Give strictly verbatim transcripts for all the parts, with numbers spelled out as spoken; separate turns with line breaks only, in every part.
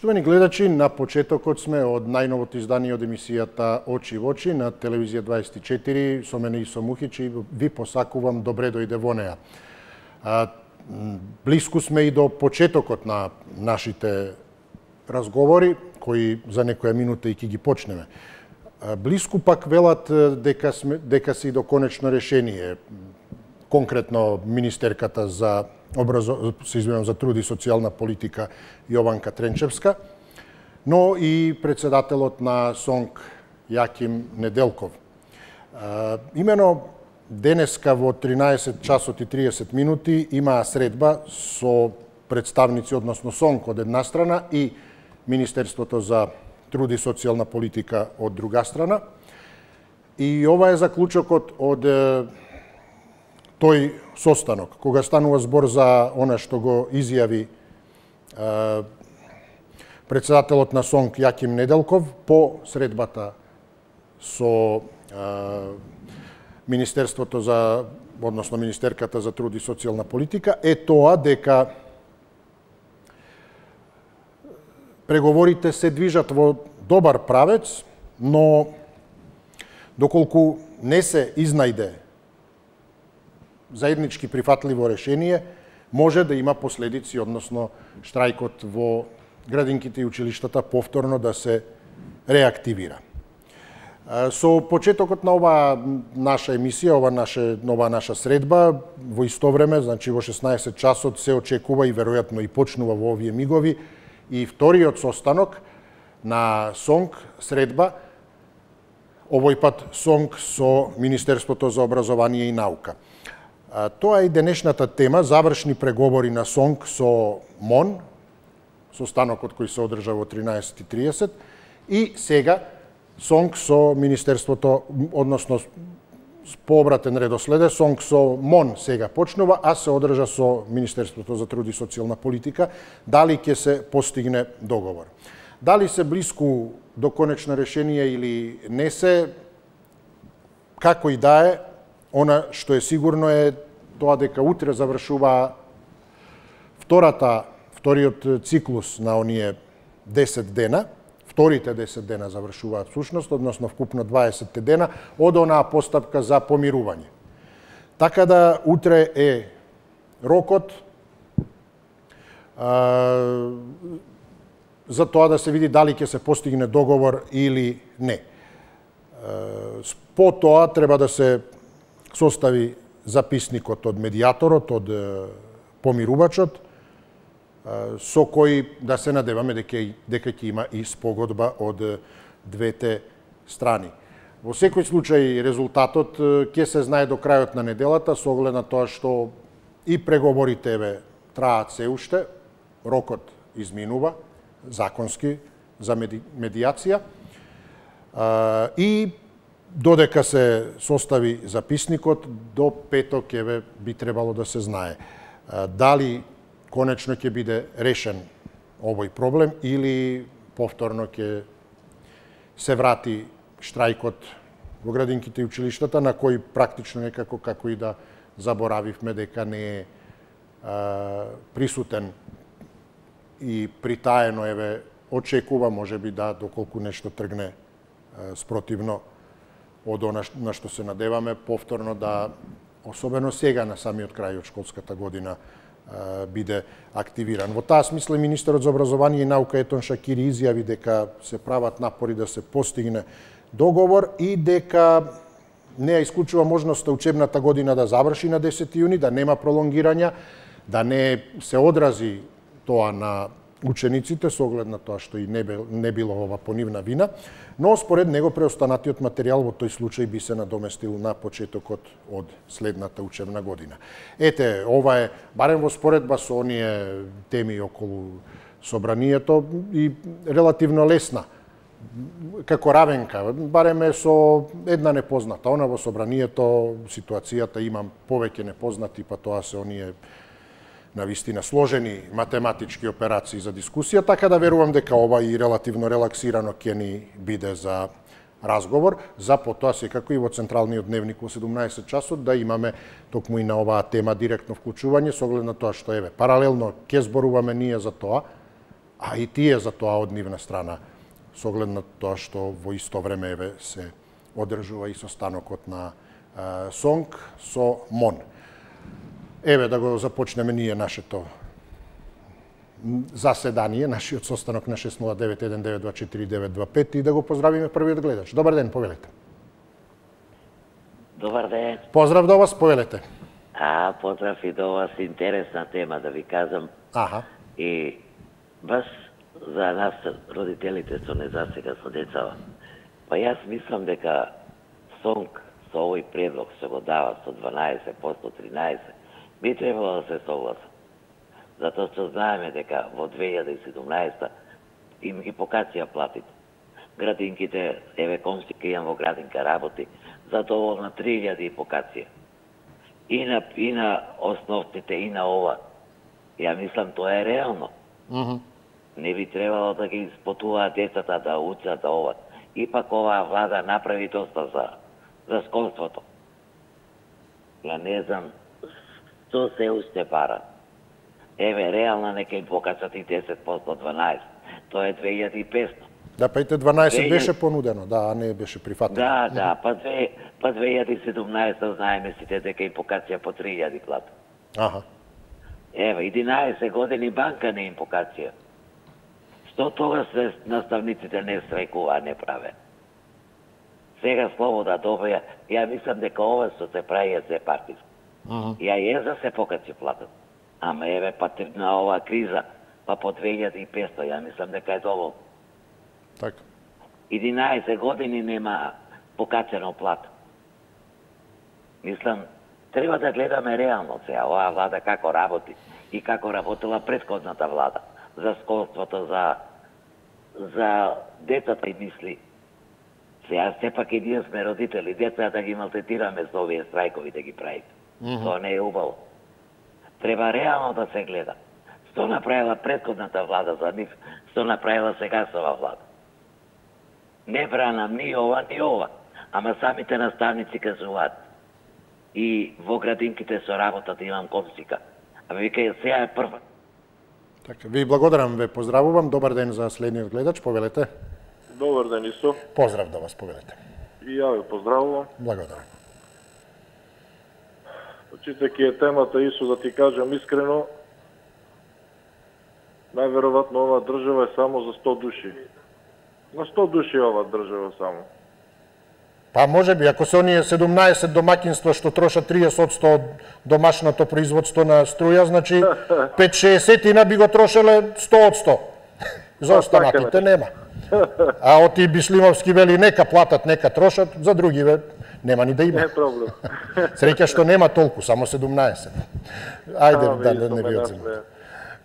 Поштовани гледачи, на почетокот сме од најновото издание од емисијата Очи во очи на телевизија дваесет и четири, со мене Исо Мухич, и ви посакувам добре дојде во неа. Блиску сме и до почетокот на нашите разговори, кои за некоја минута и ќе ги почнеме. Блиску пак велат дека сме дека се и до конечно решение. Конкретно министерката за образо... се извинувам, за труд и социјална политика Јованка Тренчевска, но и председателот на СОНК Јаким Неделков. Имено денеска во тринаесет часот и триесет минути имаа средба со представници, односно СОНК од една страна и Министерството за труд и социјална политика од друга страна. И ова е заклучокот од тој состанок, кога станува збор за она што го изјави е, председателот на СОНК Јаким Неделков по средбата со е, Министерството за, односно Министерката за труд и социјална политика, е тоа дека преговорите се движат во добар правец, но доколку не се изнајде заеднички прифатливо решение, може да има последици, односно штрајкот во градинките и училиштата повторно да се реактивира. Со почетокот на оваа наша емисија, ова наша нова наша средба, во исто време, значи во шеснаесет часот се очекува и веројатно и почнува во овие мигови и вториот состанок на СОНК средба, овој пат СОНК со Министерството за образование и наука. Тоа е и денешната тема, завршни преговори на СОНК со МОН, состанокот кој се одржа во тринаесет и триесет, и сега СОНК со Министерството, односно по обратен редослед, СОНК со МОН сега почнува, а се одржа со Министерството за труд и социјална политика, дали ќе се постигне договор. Дали се блиску до конечно решение или не се, како и да е, она што е сигурно е тоа дека утре завршува втората, вториот циклус на оние десет дена, вторите десет дена завршуваат всушност, односно вкупно дваесет дена, од онаа постапка за помирување. Така да утре е рокот а, за тоа да се види дали ќе се постигне договор или не. А, по тоа треба да се состави записникот од медијаторот, од помирувачот, со кој да се надеваме дека, дека ќе има и спогодба од двете страни. Во секој случај резултатот ќе се знае до крајот на неделата, со оглед на тоа што и преговорите еве траат се уште, рокот изминува законски за меди, медијација и додека се состави записникот, до петок еве би требало да се знае дали конечно ќе биде решен овој проблем или повторно ќе се врати штрајкот во градинките и училиштата, на кој практично некако како и да заборавивме дека не е а, присутен и притаено еве очекува можеби да доколку нешто тргне а, спротивно од она на што се надеваме, повторно да, особено сега на самиот крај од школската година, биде активиран. Во таа смисла министерот за образование и наука Етон Шакири изјави дека се прават напори да се постигне договор и дека не ја исклучува можноста учебната година да заврши на десети јуни, да нема пролонгирања, да не се одрази тоа на учениците со оглед на тоа што и не, бил, не било ова по нивна вина, но според него преостанатиот материјал во тој случај би се надоместил на почетокот од следната учебна година. Ете, ова е барем во споредба со оние теми околу собранието и релативно лесна како равенка, барем е со една непозната. Она во собранието ситуацијата имам повеќе непознати, па тоа се оние навистина сложени математички операции за дискусија, така да верувам дека ова и релативно релаксирано ќе ни биде за разговор, за потоа секако и во централниот дневник во седумнаесет часот да имаме токму и на оваа тема директно вклучување, со оглед на тоа што еве паралелно ќе зборуваме ние за тоа, а и тие за тоа од нивна страна, со оглед на тоа што во исто време еве се одржува и состанокот на а, СОНК со МОН. Еве да го започнеме ние нашето заседание, нашиот состанок на шест нула девет еден девет два четири девет два пет и да го поздравиме првиот гледач. Добар ден, повелете.
Добар ден.
Поздрав до вас, повелете.
А, поздрав и до вас, интересна тема да ви кажам.
Аха.
И баш за нас, родителите со незасега со децава. Па јас мислам дека СОНК со овој предлог што го дава со дванаесет проценти, тринаесет, би требало да се согласа. Затоа што знаеме дека во две илјади и седумнаесета им ги покација платите. Градинките, еве комшика имам во градинка работи, затоа на три илјади и покација. И на, и на основните, и на ова. Ја мислам, тоа е реално.
Uh -huh.
Не би требало да ги спотуваат децата да учат да ова. Ипак оваа влада направи доста за, за школството. Ја не знам што се уште пара. Еве, реално нека им покачат и десет проценти, дванаесет. Тоа е две илјади и петстотини.
Да, па и те дванаесет беше понудено, да, а не беше прифатено.
Да, да, па две, па две илјади и седумнаесета знаеме сите дека им покација по три илјади плата.
Аха.
Еве, единаесет години банка не им покација. Што тогаш наставниците не страјкува, не праве? Сега слобода добија, ја мислам дека ова што се прави е се партиско.
Uh -huh.
Ја е за се покаци платат. Ама еве па на оваа криза, па по две илјади и петстотини, ја мислам дека е доволно.
Така.
единаесет години нема покачено плата. Мислам, треба да гледаме реално сега оваа влада како работи и како работила претходната влада за школството, за за децата и мисли. Сега сепак и ние сме родители, деца да ги малтретираме со овие страјкови да ги правите. Mm -hmm. Тоа не е убаво. Треба реално да се гледа. Што направила претходната влада за нив, што направила сега со оваа влада. Не бранам ни ова, ни ова, ама самите наставници кажуваат. И во градинките со работата имам комшика. А вика, сега е прва.
Така, ви благодарам, ве поздравувам. Добар ден за следниот гледач, повелете.
Добар ден, Исо.
Поздрав до вас, повелете.
И ја ве поздравувам.
Благодарам.
Читајќи е темата, Исо, да ти кажам искрено, најверојатно оваа држава е само за сто души. На сто души оваа држава само.
Па може би, ако се оние седумнаесет домакинства што трошат триесет одсто од домашното производство на струја, значи пет-шеесет би го трошеле сто одсто. За останатите нема. А оти Бишлимовски вели нека платат, нека трошат, за другиве нема ни да има.
Не е проблем.
Среќа што нема толку, само седумнаесет. Ајде да, да не ви одземам.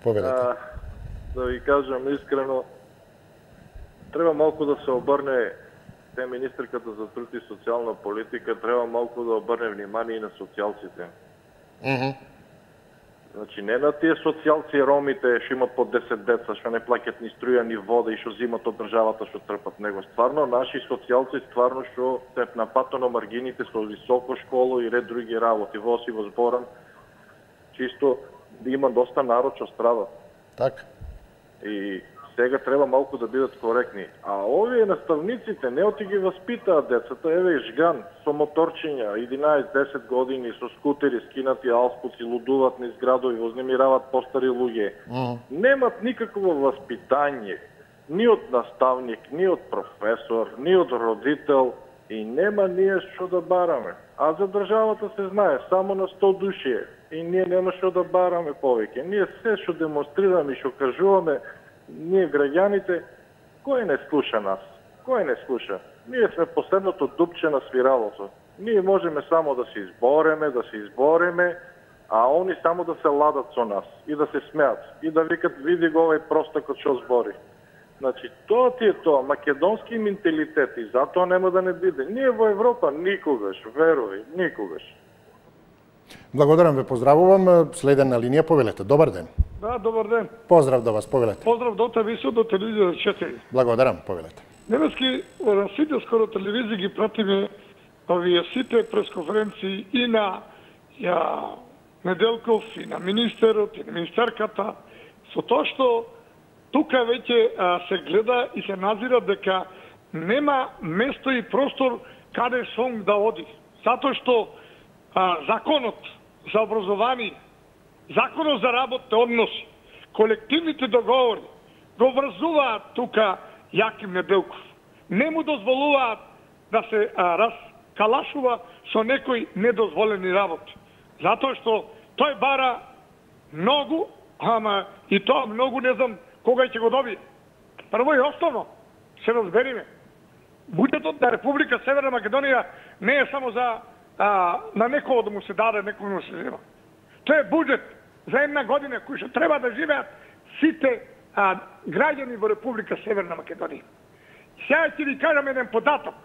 Повелете.
Да ви кажам искрено, треба малку да се обрне, те министерката за труд и социјална политика, треба малку да обрне внимание и на социјалците.
Mm -hmm.
Значи, не на тие социјалци ромите што имат по десет деца, што не плаќат ни струја, ни вода и што зимат од државата што трпат него. Стварно, наши социјалци стварно што се на пато на маргините со високо школо и ред други работи, во Оси, во Зборан, чисто има доста народ што страда.
Така.
И сега треба малку да бидат коректни. А овие наставниците не оти ги васпитаат децата, еве и жган со моторчиња, единаесет-десет години, со скутери, скинати алспуци, лудуваат низ градови, вознемираваат постари луѓе. Mm. Немат никакво васпитање, ни од наставник, ни од професор, ни од родител, и нема ние што да бараме. А за државата се знае, само на сто души е. И ние нема што да бараме повеќе. Ние се што демонстрираме и што кажуваме, ние граѓаните, кој не слуша нас? Кој не слуша? Ние сме последното дупче на свиралото. Ние можеме само да се избореме, да се избореме, а они само да се ладат со нас и да се смеат и да викат види го овој простакот што збори. Значи, тоа ти е тоа, македонски менталитет и затоа нема да не биде. Ние во Европа никогаш, верувај, никогаш.
Благодарам, ве поздравувам. Следен на линија, повелете. Добар ден.
Да, добар ден.
Поздрав до вас, повелете.
Поздрав до тебе и до телевизија четири.
Благодарам, повелете.
Немески, на сите скоро телевизии ги пратиме овие сите пресконференции и на ја Неделков, и на министерот, и на министерката, со тоа што тука веќе се гледа и се назира дека нема место и простор каде сон да оди. Затоа што а, законот за образование, законот за работни односи, колективните договори го врзуваат тука Јаким Неделков. Не му дозволуваат да се а, раскалашува со некои недозволени работи. Затоа што тој бара многу, ама и тоа многу не знам кога ќе го добие. Прво и основно, се разбериме, буџетот на Република Северна Македонија не е само за а, на некој да му се даде, некој да му се зема. Тоа е буџет за една година кој што треба да живеат сите а, граѓани во Република Северна Македонија. Сега ќе ви кажам еден податок.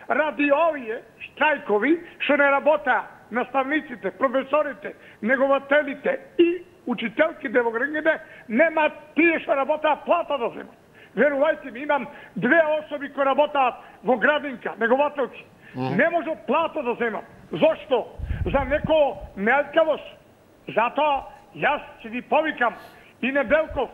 Ради овие штрајкови што не работа наставниците, професорите, негователите и учителките во градините, нема тие што работаат плата да земат. Верувајте ми, имам две особи кои работаат во градинка, негователки. Mm. Не може плата да земат. Зошто? За некој неалкавост. Затоа јас ќе ви повикам и Неделков,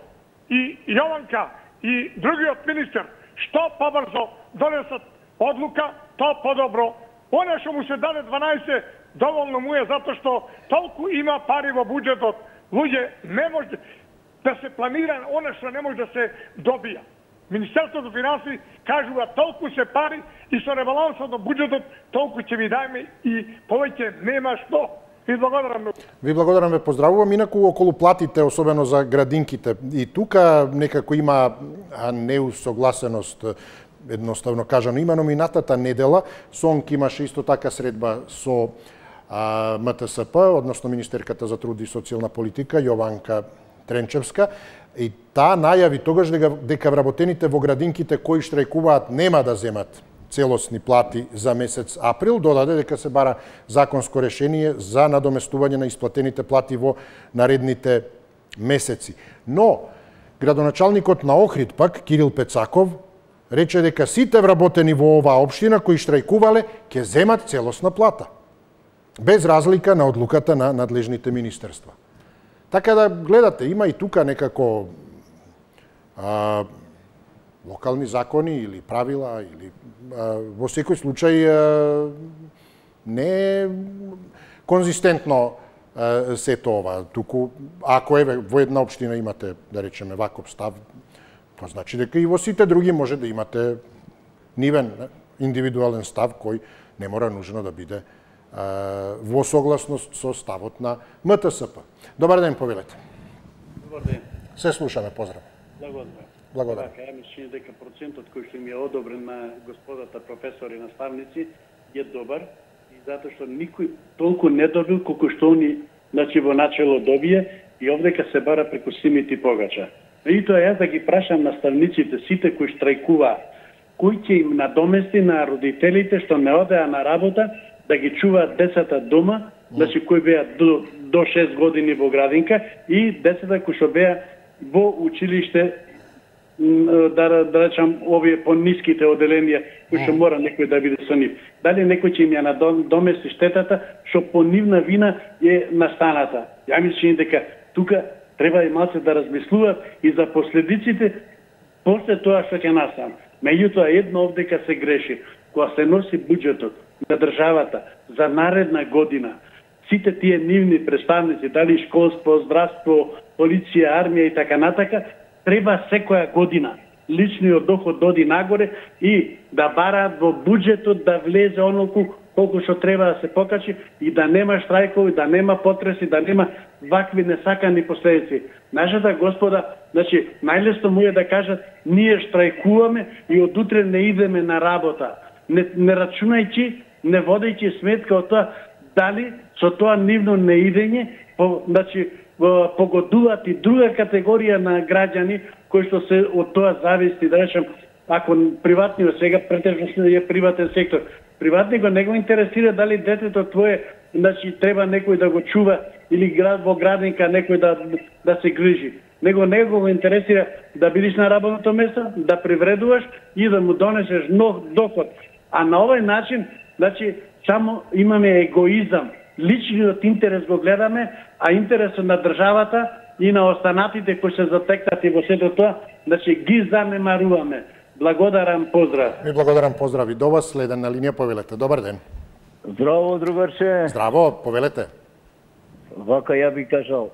и Јованка, и другиот министер, што побрзо донесат одлука, тоа подобро. Она што му се даде дванаесет, доволно му е, затоа што толку има пари во буџетот. Луѓе, не може да се планира она што не може да се добија. Министерството финанси кажува толку се пари и со ребалансот на буџетот толку ќе ви дајме и повеќе нема што. Ви благодарам.
Ви благодарам, ве поздравувам. Инаку околу платите, особено за градинките, и тука некако има неусогласеност, едноставно кажано. Имено минатата недела СОНК имаше исто така средба со а, МТСП, односно Министерката за труд и социјална политика, Јованка Тренчевска, и таа најави тогаш дека, дека вработените во градинките кои штрајкуваат нема да земат целосни плати за месец април, додаде дека се бара законско решение за надоместување на исплатените плати во наредните месеци. Но градоначалникот на Охрид пак, Кирил Пецаков, рече дека сите вработени во оваа општина кои штрајкувале ќе земат целосна плата, без разлика на одлуката на надлежните министерства. Така да гледате, има и тука некако а, локални закони или правила, или а, во секој случај а, не е конзистентно а, сето ова. Туку, ако еве во една општина имате, да речеме, ваков став, тоа значи дека и во сите други може да имате нивен индивидуален став кој не мора нужно да биде а, во согласност со ставот на МТСП. Добар ден, повелете.
Добар ден.
Се слушаме, поздрав.
Благодарам.
Благодарам.
Така, ја мислам дека процентот кој што им е одобрен на господата професори и наставници е добар и затоа што никој толку не добил колку што они значи во начело добие и овдека се бара преку симити погача. И тоа јас да ги прашам наставниците, сите кои штрајкуваат, кој ќе им надомести на родителите што не одеа на работа да ги чуваат децата дома, значи кои беа до, до шест години во градинка и децата кои што беа во училиште, да, да речам, овие по-ниските оделенија, кои што мора некој да биде со нив. Дали некој ќе им ја надомести штетата што по нивна вина е настаната? Ја мислам дека тука треба и малце да размислуваат и за последиците после тоа што ќе настане. Меѓутоа едно овдека се греши. Кога се носи буџетот на државата за наредна година, сите тие нивни представници, дали школство, здравство, полиција, армија и така натака, треба секоја година личниот доход доди нагоре и да бараат во буџетот да влезе онолку колку што треба да се покачи и да нема штрајкови, да нема потреси, да нема вакви несакани последици. Нашата господа, значи, најлесно му е да кажат, ние штрајкуваме и од утре не идеме на работа. Не, не рачунајќи, не водејќи сметка од тоа, дали со тоа нивно неидење, по, значи, погодуваат и друга категорија на граѓани кои што се од тоа зависти, да речем, ако приватниот сега претежно е приватен сектор, приватникот не го интересира дали детето твое, значи треба некој да го чува или град во градинка некој да да се грижи. Него не го интересира да бидеш на работното место, да привредуваш и да му донесеш нов доход. А на овој начин, значи само имаме егоизам. Личниот интерес го гледаме, а интересот на државата и на останатите кои се затекнати во сето тоа, значи ги занемаруваме. Благодарам, поздрав.
Ми благодарам, поздрави до вас. Следен на линија, повелете. Добар ден.
Здраво, другарче.
Здраво, повелете.
Вака ја би кажал,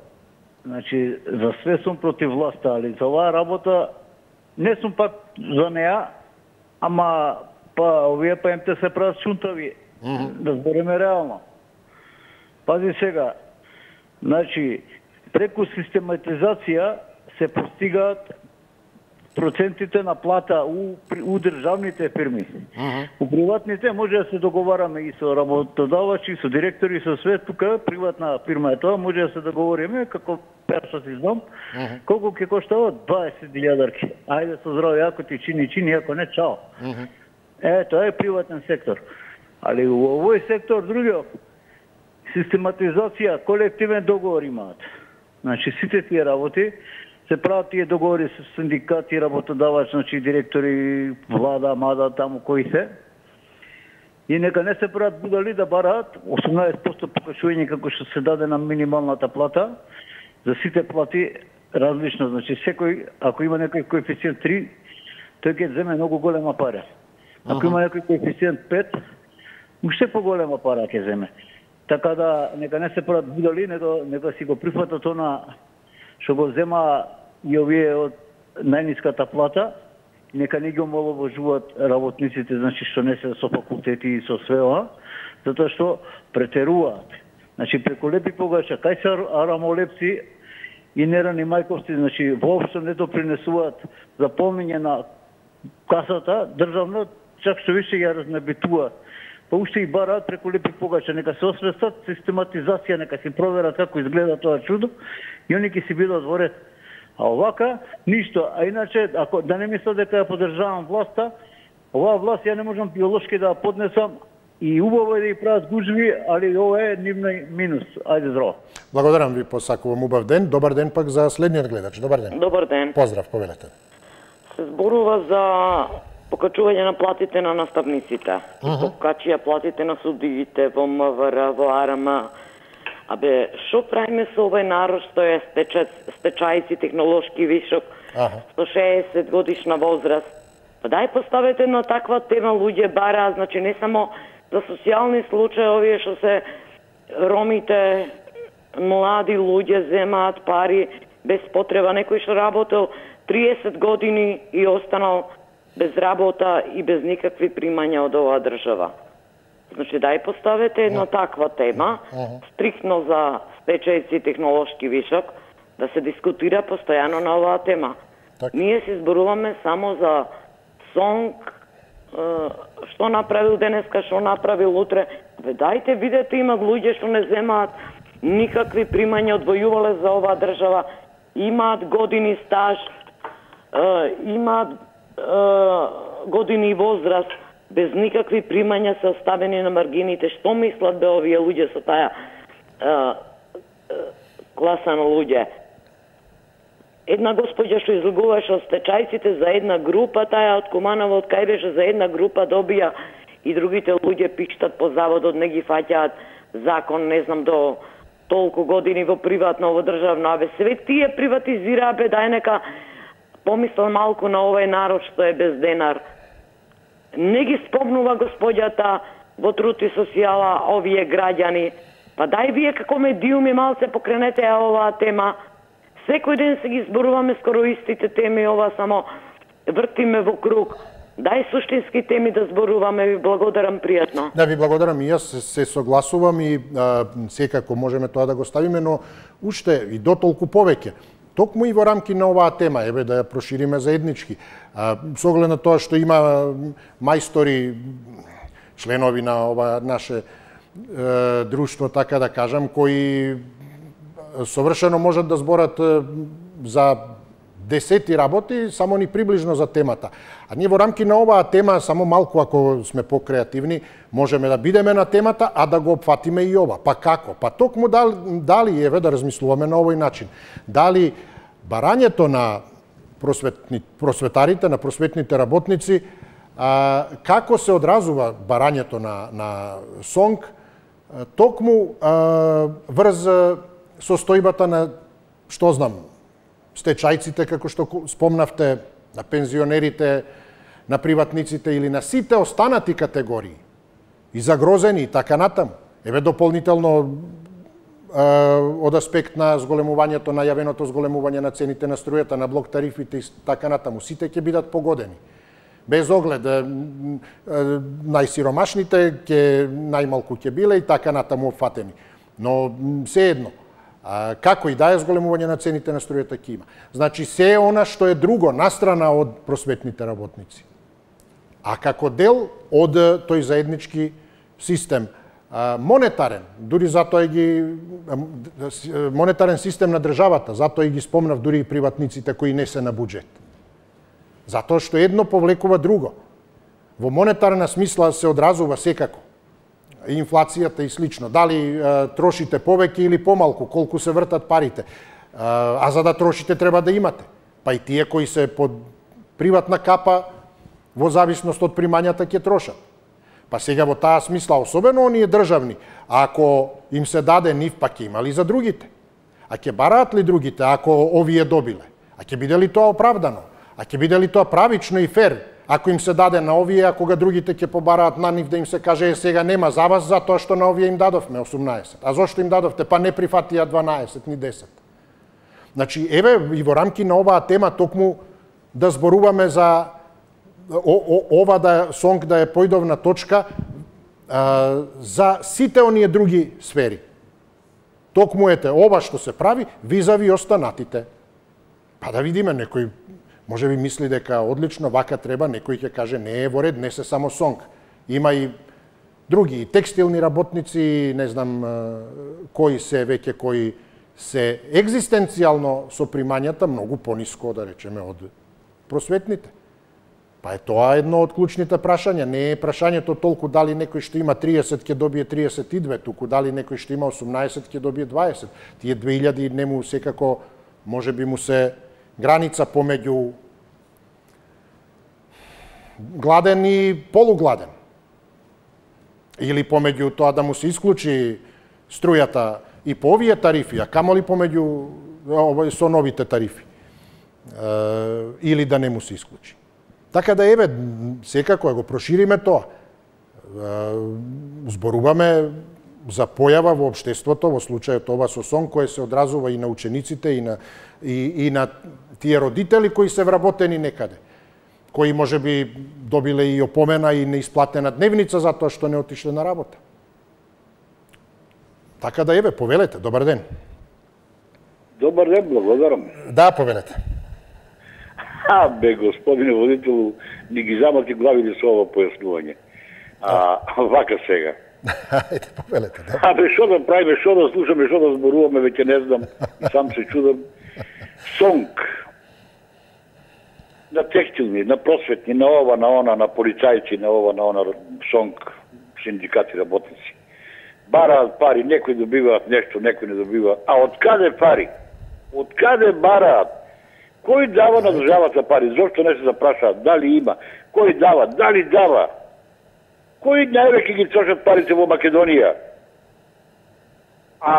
значи, за све сум против власта, али за оваа работа не сум пак за неа, ама па овие па им те се прават шунтави. Mm -hmm. Да збориме реално. Пази сега, значи, преку систематизација се постигаат процентите на плата у, у државните фирми. Uh -huh. У приватните може да се договараме и со работодавачи, и со директори, и со све. Тука приватна фирма е тоа, може да се договориме, како перша си знам, uh -huh. колку ќе коштава дваесет илјадарки. Ајде со здраве, ако ти чини, чини, ако не, чао. Uh -huh. Е, тоа е приватен сектор. Али у овој сектор, другиот, систематизација, колективен договор имаат. Значи, сите тие работи се прават тие договори со синдикати, работодавач, значи директори, влада, мада, таму кои се. И нека не се прават будали да бараат осумнаесет проценти покачување како што се даде на минималната плата, за сите плати различно. Значи, секој, ако има некој коефициент три, тој ќе земе многу голема пара. Ако има некој коефициент пет, уште поголема пара ќе земе. Така да, нека не се прават будали, нека, нека си го прифатат она што го зема и овие од најниската плата, нека не ги омаловажуваат работниците, значи што не се со факултети и со све ова, затоа што претеруваат. Значи преку лепи погача, кај се арамолепци и нерани мајковци, значи воопшто не допринесуваат за полнење на касата, државна, чак што више ја разнебитуваат. Па уште и бараат преку лепи погача, нека се освестат систематизација, нека си проверат како изгледа тоа чудо и они ќе си бидат во ред. А овака, ништо. А иначе, ако да не мислам дека ја поддржавам власта, оваа власт ја не можам биолошки да ја поднесам и убаво е да ја прават гужви, али ова е нивна минус. Ајде здраво.
Благодарам ви, посакувам убав ден. Добар ден пак за следниот гледач. Добар ден.
Добар ден.
Поздрав, повелете.
Се зборува за покачување на платите на наставниците. Uh -huh. Покачија платите на судиите во М В Р, во А Р М. Абе, шо правиме со овој народ што е стечајци, технолошки вишок, ага. сто шеесет годишна возраст? Па дај поставете на таква тема, луѓе бара, значи не само за социјални случаи, овие што се ромите, млади луѓе земаат пари без потреба, некој што работел триесет години и останал без работа и без никакви примања од оваа држава. Значи, дај поставете една таква тема, стриктно за стечајци и технолошки вишок, да се дискутира постојано на оваа тема. Так. Ние се зборуваме само за сонг, што направил денеска, што направил утре. Бе, дајте, видете, имат луѓе што не земаат никакви примања, одвојувале за оваа држава, имаат години стаж, имаат години возраст, без никакви примања се оставени на маргините. Што мислат бе овие луѓе со таа е, е, класа на луѓе? Една господја што излегуваше од стечајците за една група, таа од Куманово, од кај беше за една група добија и другите луѓе пиштат по заводот, не ги фаќаат закон, не знам, до толку години во приватно, во државно. Абе, све тие приватизираа, бе, дај нека помислам малку на овој народ што е без денар. Не ги спомнува господјата во труд и социјала овие граѓани. Па дај вие како медиуми малце покренете оваа тема. Секој ден се ги зборуваме скоро истите теми, ова само вртиме во круг. Дај суштински теми да зборуваме, ви благодарам пријатно.
Да, ви благодарам и јас се, се согласувам и а, секако можеме тоа да го ставиме, но уште и дотолку повеќе. Токму и во рамки на оваа тема, еве да ја прошириме заеднички. А, со оглед на тоа што има мајстори, членови на ова наше е, друштво, така да кажам, кои совршено можат да зборат е, за десети работи, само ни приближно за темата. А ние во рамки на оваа тема, само малку ако сме покреативни, можеме да бидеме на темата, а да го опфатиме и ова. Па како? Па токму дали, дали еве да размислуваме на овој начин. Дали барањето на просветни, просветарите, на просветните работници, а, како се одразува барањето на, на сонг, токму а, врз состојбата на што знам, стечајците, како што спомнавте, на пензионерите, на приватниците или на сите останати категории, и загрозени, и така натаму. Еве дополнително од аспект на зголемувањето, најавеното зголемување на цените на струјата, на блок тарифите и така натаму. Сите ќе бидат погодени. Без оглед, најсиромашните ќе најмалку ќе биле и така натаму опфатени. Но се едно, како и да е, зголемување на цените на струјата ќе има. Значи, се она што е друго, настрана од просветните работници. А како дел од тој заеднички систем, монетарен, дури затоа ги монетарен систем на државата, затоа и ги спомнав дури и приватниците кои не се на буџет. Затоа што едно повлекува друго. Во монетарна смисла се одразува секако инфлацијата и слично. Дали трошите повеќе или помалку, колку се вртат парите. А за да трошите треба да имате. Па и тие кои се под приватна капа, во зависност од примањата ќе трошат. Па сега во таа смисла, особено оние државни, ако им се даде нив, па ќе има ли за другите? А ќе бараат ли другите ако овие добиле? А ќе биде ли тоа оправдано? А ќе биде ли тоа правично и фер? Ако им се даде на овие, а кога другите ќе побараат на нив да им се каже е сега нема за вас, затоа што на овие им дадовме осумнаесет. А зошто им дадовте? Па не прифатија дванаесет ни десет. Значи, еве и во рамки на оваа тема токму да зборуваме за О, о, ова да сонг да е појдовна точка а, за сите оние други сфери. Токму ете, ова што се прави, визави останатите. Па да видиме, некој може би мисли дека одлично, вака треба, некој ќе каже не е во ред, не се само сонг. Има и други, и текстилни работници, не знам кои се веќе, кои се екзистенцијално со примањата многу пониско, да речеме, од просветните. Па е тоа едно од клучните прашања. Не е прашањето толку дали некој што има триесет ќе добие триесет и две, туку дали некој што има осумнаесет ќе добие дваесет. Тие две илјади нему секако може би му се граница помеѓу гладен и полугладен. Или помеѓу тоа да му се исклучи струјата и по овие тарифи, а камоли помеѓу со новите тарифи. Или да не му се исклучи. Така да еве, секако го прошириме тоа. Зборуваме за појава во општеството, во случајот ова со сон, кој се одразува и на учениците, и на, и, и на тие родители кои се вработени некаде, кои може би добиле и опомена и неисплатена дневница за тоа што не отишле на работа. Така да еве, повелете, добар ден.
Добар ден, благодарам.
Да, повелете.
А, бе, господине водителу, ни ги замати главите со ова појаснување. А, вака сега.
Ајде, повелете, да.
А, бе, шо да правиме, шо да слушаме, шо да зборуваме, веќе не знам, и сам се чудам. Сонг. На текстилни, на просветни, на ова, на она, на полицајци, на ова, на она, сонг, синдикати, работници. Бараат пари, некои добиваат нешто, некои не добиваат. А од каде пари? Од каде бараат? Кој дава на државата пари? Зошто не се запрашаат? Дали има? Кој дава? Дали дава? Кои највеќе ги трошат парите во Македонија? А,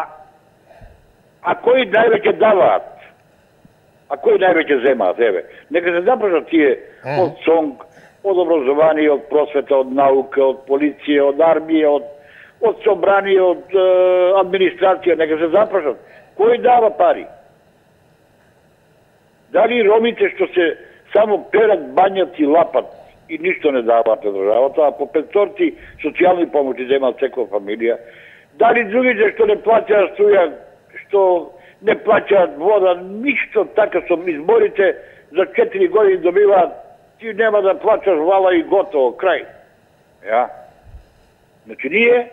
а кои највеќе даваат? А кои највеќе земаат? Еве, нека се запрашат тие од сонг, од образование, од просвета, од наука, од полиција, од армија, од, од собрание, од е, администрација, нека се запрашат. Кој дава пари? Дали ромите што се само перат, бањат и лапат и ништо не даваат на државата, а по петсторци социјални помоќи земаат секоја фамилија? Дали другите што не плаќаат струја, што не плаќаат вода, ништо така со изборите за четири години добиваат, ти нема да плаќаш вала и готово, крај. Ја? Значи ние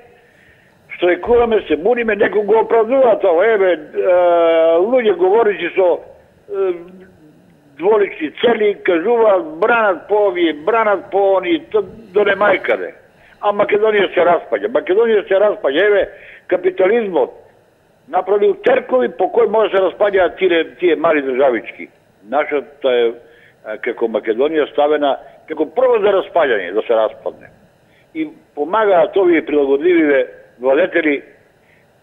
штрајкуваме, се буниме, некој го оправдува тоа. Еве, луѓе говоричи со дволични цели, кажуваат бранат по овие, бранат по они, до немајкаде. А Македонија се распаѓа. Македонија се распаѓа. Еве, капитализмот направил теркови по кој може да се распаѓаат тие, тие мали државички. Нашата е, како Македонија, ставена како прво за распаѓање, да се распадне. И помагаат овие прилагодлививе владетели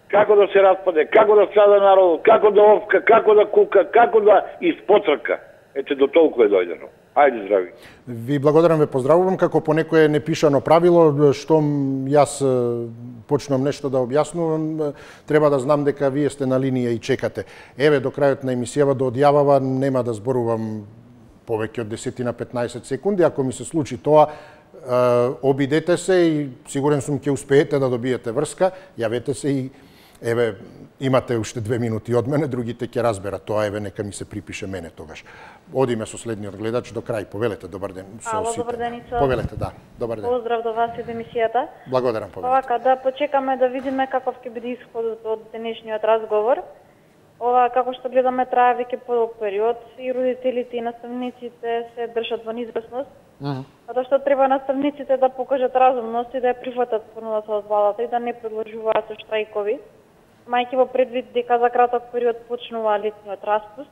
како да се распаде, како да страда народот, како да овка, како да кука, како да испоцрка. Ете, до толку е дојдено. Ајде, здрави.
Ви благодарам, ве поздравувам. Како по некое непишано правило, штом јас почнам нешто да објаснувам, треба да знам дека вие сте на линија и чекате. Еве, до крајот на емисијава до одјавава нема да зборувам повеќе од десет на петнаесет секунди. Ако ми се случи тоа, обидете се и сигурен сум ќе успеете да добиете врска, јавете се и еве, имате уште две минути од мене, другите ќе разберат тоа, еве, нека ми се припише мене тогаш. Одиме со следниот гледач до крај. Повелете, добар ден.
Ало, добар ден, Ицо.
Повелете, да. Добар ден.
Поздрав до вас и до емисијата.
Благодарам, повелете.
Овака, да почекаме да видиме каков ќе биде исходот од денешниот разговор. Ова, како што гледаме, трае веќе подолг период и родителите и наставниците се држат во неизвестност. Затоа што треба наставниците да покажат разумност и да ја прифатат понудата од владата и да не продолжуваат со штрајкови, мајќи во предвид дека за краток период почнува летниот распуст.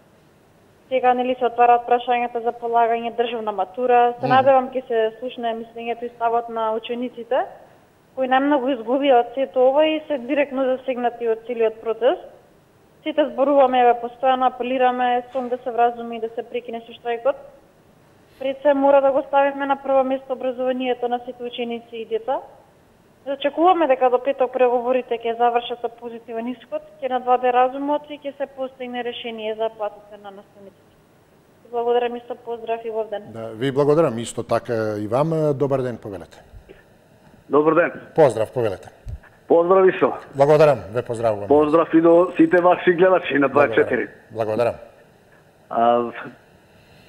Сега нели се отвараат прашањата за полагање државна матура. Се надевам ќе се слушне мислењето и ставот на учениците, кои најмногу изгубија од сето ова и се директно засегнати од целиот процес. Сите зборуваме, еве, постојано апелираме сум да се вразуми и да се прекине со штрајкот. Пред се мора да го ставиме на прво место образованието на сите ученици и деца. Зачекуваме дека до петок преговорите ќе завршат со позитивен исход, ќе надваде разумот и ќе се постигне решение за платите на наставниците. Благодарам исто, поздрав и вов ден.
Да, ви благодарам исто така и вам. Добар ден, повелете.
Добар ден.
Поздрав, повелете.
Поздрав Исо.
Благодарам, ве поздравувам.
Поздрав и до сите ваши гледачи на дваесет и четири.
Благодарам.
А,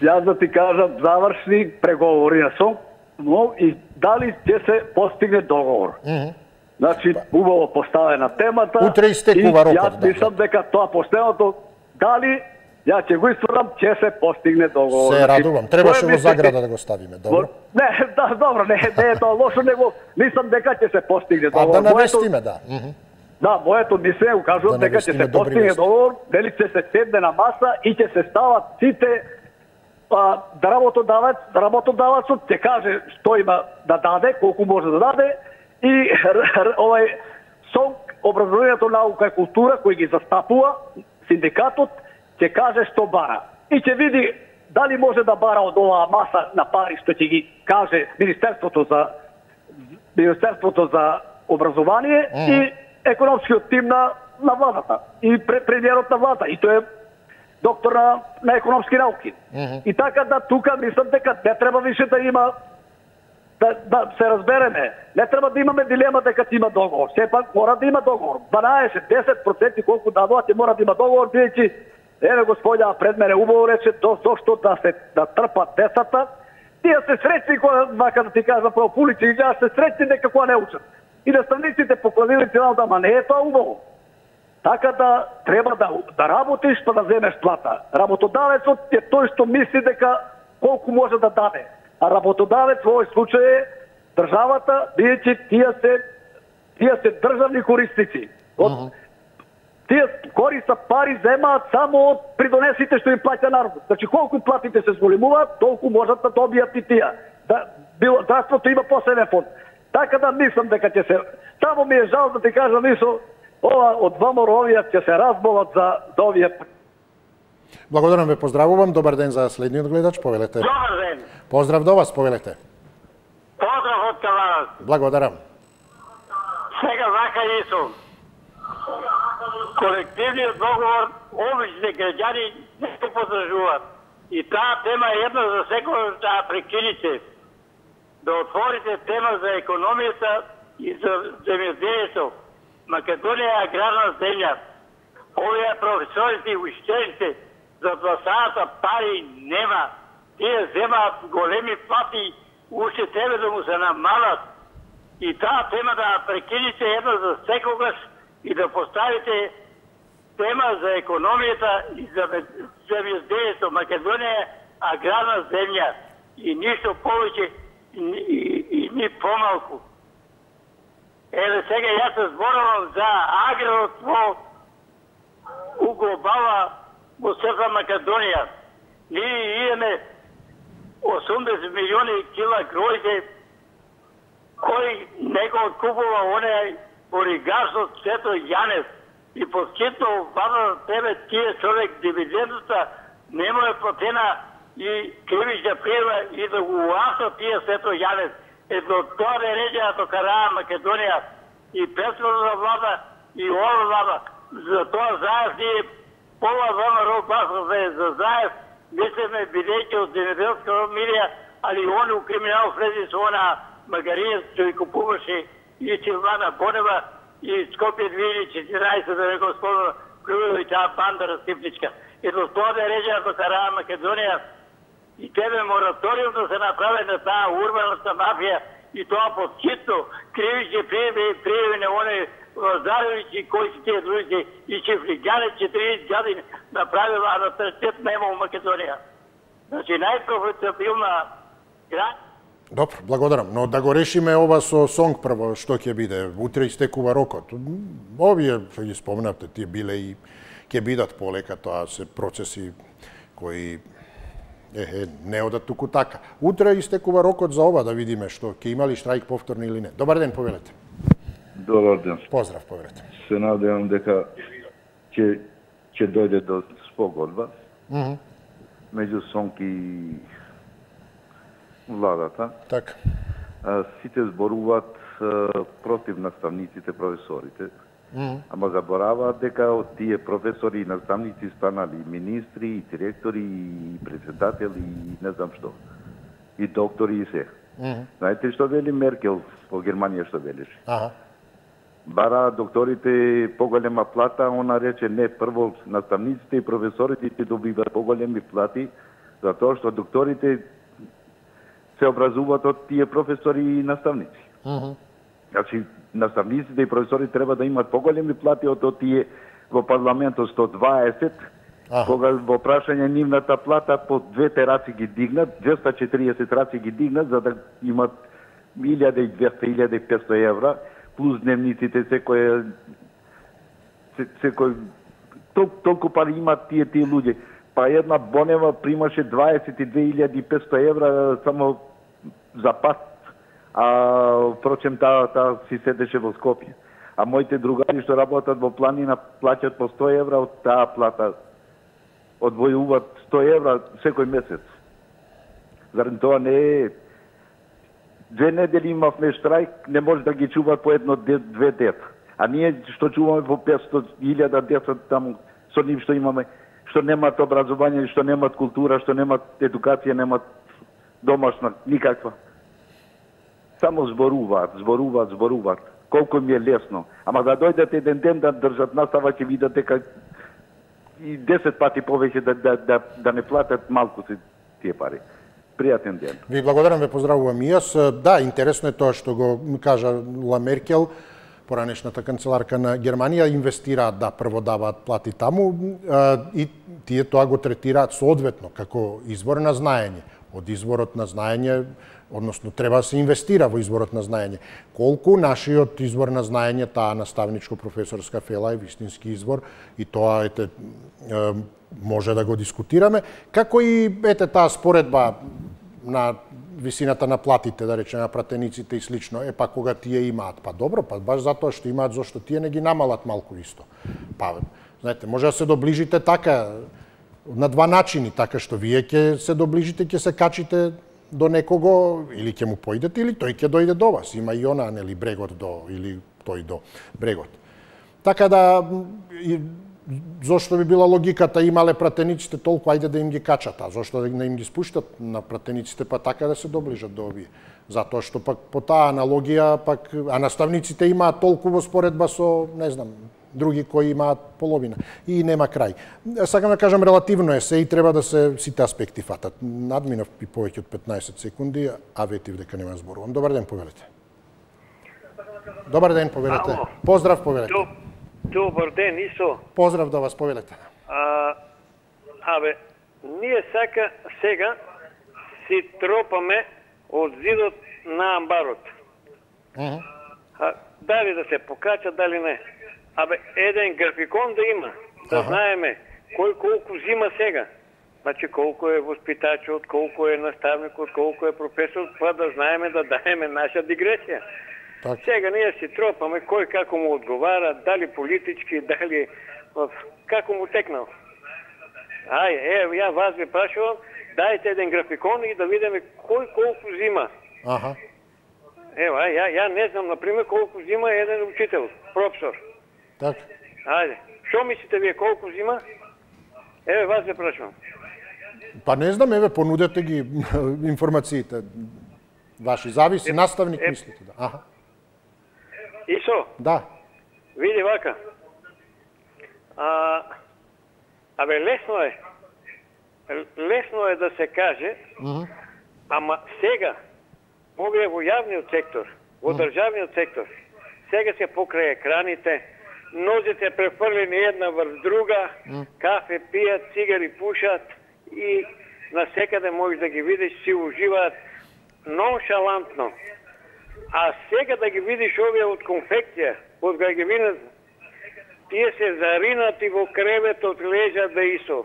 јас да ти кажам, завршни преговори на СОНК, но и дали ќе се постигне договор. Mm -hmm. Значи, убаво поставена темата.
Утре истекува рокот.
Јас мислам дека тоа последното, дали ја ќе го исторам, ќе се постигне договор.
Се радувам. Требаше во заграда да го ставиме, добро?
Не, да, добро, не, не е тоа лошо, него мислам дека ќе се постигне договор.
А да навестиме, да. Mm -hmm.
Да, моето мислење укажува дека ќе се постигне договор, дали ќе се седне на маса и ќе се стават сите а, да работодаваc, работодавацот ќе каже што има да даде, колку може да даде и овај СОНК, образованието, наука и култура кој ги застапува, синдикатот ќе каже што бара и ќе види дали може да бара од оваа маса на пари што ќе ги каже Министерството за Министерството за образование mm. и економскиот тим на на владата и премиерот на влада и тој е доктор на, на економски науки. Mm -hmm. И така да тука мислам дека не треба више да има да, да се разбереме. Не треба да имаме дилема дека има договор. Сепак мора да има договор. дванаесет до десет проценти колку дадоа ќе мора да има договор, бидејќи еве господја пред мене убаво рече до зошто да се да трпат децата. Тие се среќни кога вака да ти кажам право пулици и се среќни дека кога не учат. И наставниците покладили цела да ма не е тоа убаво. Така да треба да, да работиш па да земеш плата. Работодавецот е тој што мисли дека колку може да даде. А работодавец во овој случај е државата, бидејќи тие се тие се државни корисници. Од uh -huh. тие користа пари земаат само од придонесите што им плаќа народот. Значи колку платите се зголемуваат, толку можат да добијат и тие. Да било здравството има посебен фонд. Така да мислам дека ќе се само ми е жал да ти кажам Исо, ова од ВМРО овие ќе се разболат за за овие.
Благодарам, ве поздравувам. Добар ден за следниот гледач, повелете.
Добар ден.
Поздрав до вас, повелете.
Поздрав од Каларас.
Благодарам.
Сега вака Исо. Колективниот договор обични граѓани не се подржуваат. И таа тема е една за секој да прекините. Да отворите тема за економијата и за земјоделието. Македонија е аграрна земја. Овие професорите и учителите за два сата пари нема. Тие земаат големи плати, уште тебе да му се намалат. И таа тема да прекините една за секогаш и да поставите тема за економијата и за земјоделието. Македонија е аграрна земја и ништо повеќе и, и, и ни помалку. Еве сега јас се зборувам за аграрот во у глобала во Северна Македонија. Ние имаме осумдесет милиони кила гројде кој него откупува оне оригашот Сето Јанев и подкитно база тебе тие човек дивидендата нема е платена и кривична пријава и да го уаса тие Сето Јанев. Ето тоа не реđена до Караа Македонија и претходна влада и ова влада. За тоа Заев ние пола ВМРО басове за Заев мислиме бидејќи од земјоделска милија, али они у криминал влези со она Магарија што ги купуваше и Силвана Бонева и Скопје две илјади и четинаесетте да не го спомнам, кој и таа банда растипничка. Ето тоа да реđена до Караа Македонија и тебе мораториум да се направи на таа урбаната мафија и тоа подхитно кривични пријави и пријави на они Лазаревичи кои си тие други и Чифлигане четириесет години направила, а наталитет нема у Македонија. Значи најпрофитабилна град.
Добро, благодарам. Но да го решиме ова со сонг прво, што ќе биде. Утре истекува рокот. Овие, што ги спомнавте, тие биле и ќе бидат полека, тоа се процеси кои Ехе, не одат туку така. Утре истекува рокот за ова, да видиме што ќе има ли штрајк повторно или не. Добар ден, повелете.
Добар ден.
Поздрав, повелете.
Се надевам дека ќе ќе дојде до спогодба
Mm -hmm.
меѓу сонг и владата.
Така.
Сите зборуваат против наставниците, професорите.
Mm -hmm.
Ама забораваат дека од тие професори и наставници станали министри, и директори, и председатели, и не знам што. И доктори и се.
Mm -hmm.
Знаете што вели Меркел по Германија што велеше?
Ага.
Бара докторите поголема плата, она рече не, прво наставниците и професорите ќе добиваат поголеми плати, затоа што докторите се образуваат од тие професори и наставници.
Mm -hmm.
Значи, наставниците и професори треба да имат поголеми плати од тие во парламентот сто дваесет,
Аха.
кога во прашање нивната плата по двете раци ги дигнат, двеста и четириесет раци ги дигнат, за да имат илјада и двесте - илјада и петсто евра, плюс дневниците секој секој тол, толку пари имат тие тие луѓе. Па една Бонева примаше дваесет и две илјади и петсто евра само за пат. А впрочем таа та си седеше во Скопје. А моите другари што работат во планина плаќат по сто евра од таа плата. Одвојуваат сто евра секој месец. Зарем тоа не е. Две недели имавме штрајк, не може да ги чуваат по едно две дета. А ние што чуваме по петсто илјада деца таму со нив што имаме, што немаат образование, што немаат култура, што немаат едукација, немаат домашна никаква. Само зборуваат, зборуваат, зборуваат. Колку ми е лесно. Ама да дојдат еден ден да држат настава, ќе видат дека и десет пати повеќе да, да, да, да не платат малку се тие пари. Пријатен ден.
Ви благодарам, ве поздравувам и јас. Да, интересно е тоа што го кажа Ла Меркел, поранешната канцеларка на Германија, инвестираат да прво даваат плати таму и тие тоа го третираат соодветно како извор на знаење. Од изворот на знаење, односно треба да се инвестира во изворот на знаење. Колку нашиот извор на знаење, таа наставничко-професорска фела е вистински извор и тоа ете може да го дискутираме, како и ете таа споредба на висината на платите, да речеме, на пратениците и слично. Е, па кога тие имаат, па добро, па баш затоа што имаат, зашто тие не ги намалат малку исто. Па, знаете, може да се доближите така, на два начини, така што вие ќе се доближите, ќе се качите до некого, или ќе му поидете, или тој ќе дојде до вас. Има и она, нели, брегот до, или тој до брегот. Така да, и, зошто би била логиката, имале пратениците толку, ајде да им ги качат, а зошто да не им ги спуштат на пратениците, па така да се доближат до овие. Затоа што пак по таа аналогија, пак, а наставниците имаат толку во споредба со, не знам, други кои имаат половина. И нема крај. Сакам да кажам, релативно е се и треба да се сите аспекти фатат. Надминав и повеќе од петнаесет секунди, а ветив дека нема зборувам. Добар ден, повелете. Добар ден, повелете.
Ало.
Поздрав, повелете.
Доб, добар ден, Исо.
Поздрав да вас, повелете.
А, абе, ние сака сега си тропаме од зидот на амбарот.
Uh -huh.
А, дали да се покача, дали не. Абе, еден графикон да има, да
Аха.
знаеме кој колку взима сега. Значи колку е воспитачот, колку е наставникот, колку е професор, па да знаеме да даеме наша дигресија.
Так.
Сега ние си тропаме кој како му одговара, дали политички, дали како му текнал. Ај, е, ја вас ви прашувам, дајте еден графикон и да видиме кој колку зима.
Аха.
Ево, ај, ја, ја не знам, например, колку зима еден учител, професор.
Так.
Ајде, што мислите вие колку зима? Еве, вас ви прашувам.
Па не знам, еве, понудете ги информациите ваши. Зависи, е, наставник е, мислите, да. Аха.
Исо?
Да.
Види вака. А, абе, лесно е. Лесно е да се каже, mm -hmm. ама сега, овие во јавниот сектор, во mm -hmm. државниот сектор, сега се покрај екраните, нозите префрлени една врз друга, mm. кафе пијат, цигари пушат и насекаде можеш да ги видиш, си уживаат ноншалантно. А сега да ги видиш овие од конфекција, од кога ги видиш, тие се заринати во креветот, лежат да исо.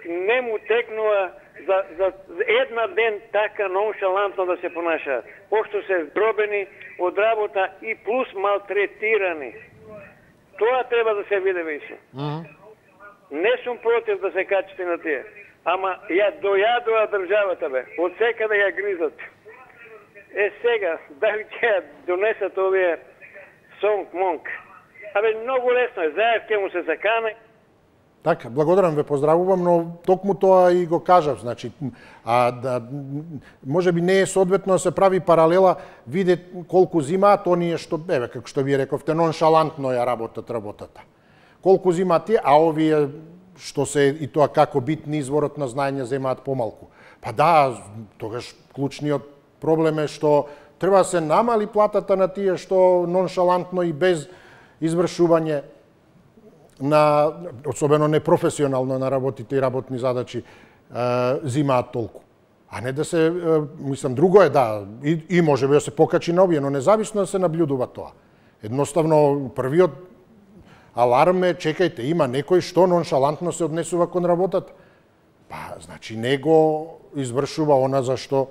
Не му текнува за, за една ден така ноншалантно да се понашаат. Пошто се здробени од работа и плюс малтретирани. Тоа треба да се види више. Mm -hmm. Не сум против да се качите на тие. Ама ја дојадува државата, бе. Од секаде ја гризат. Е сега, дали ќе ја донесат овие сонг-монг? Абе, многу лесно е. Заев ќе му се закане.
Така, благодарам, ве поздравувам, но токму тоа и го кажав, значи, а да може би не е соодветно да се прави паралела, виде колку зимаат оние што, еве, како што ви рековте, ноншалантно ја работат работата. Колку зимаат тие, а овие што се и тоа како битни изворот на знаење земаат помалку. Па да, тогаш клучниот проблем е што треба да се намали платата на тие што ноншалантно и без извршување на, особено непрофесионално на работите и работни задачи, е, зимаат толку. А не да се, е, мислам, друго е, да, и, и може би да се покачи на овие, но независно да се наблюдува тоа. Едноставно, првиот аларм е, чекајте, има некој што ноншалантно се однесува кон работата. Па, значи, не го извршува она за што